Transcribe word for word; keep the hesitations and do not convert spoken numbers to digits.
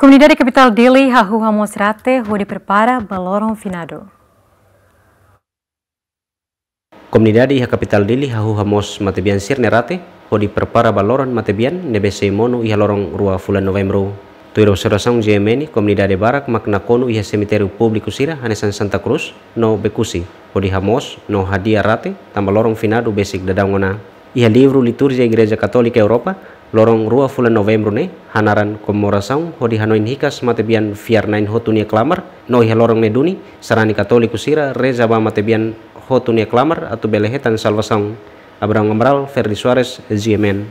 Komunidade Kapitál Dili hahú hamoos rate hodi prepara ba loron finadu. Komunidade iha Kapitál Dili hahú hamoos matebian sira-nia rate hodi prepara ba loron matebian ne'ebé sei monu iha loron rua fulan Novembru. Tuir observasaun GMN, komunidade barak mak nakonu iha semitériu públiku sira hanesan Santa Cruz no Bekusi, hodi hamoos no hadi'a rate tanba loron finadu besik daudaun ona. Iha livru liturjia Igreja Katólika Europa, loron rua fulan Novembru ne'e hanaran komemorasaun hodi hanoin hikas matebian fiar-na'in hotu nia klamar, no iha loron ne'e duni sarani katóliku sira reza ba matebian hotu nia klamar atu bele hetan salvasaun. Abrão Amaral, Ferdi Soares, GMN.